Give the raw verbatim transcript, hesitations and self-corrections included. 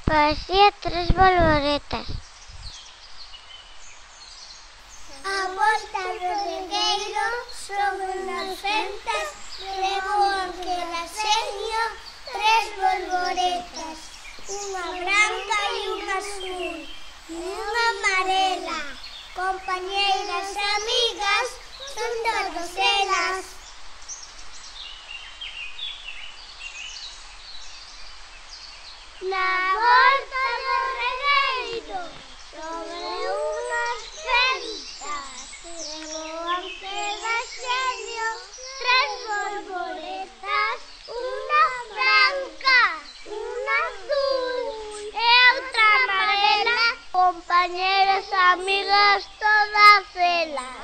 Parecía tres bolboretas. A volta do regueiro sobre unhas fentas levoan que raseño tres bolboretas, unha branca e unha azul, e unha amarela. Compañeiras e amigas son todas elas. Na volta do regueiro sobre unhas fentas levoan que raseño tres bolboretas, unha branca, unha azul e outra amarela. Compañeras, amigas, todas elas.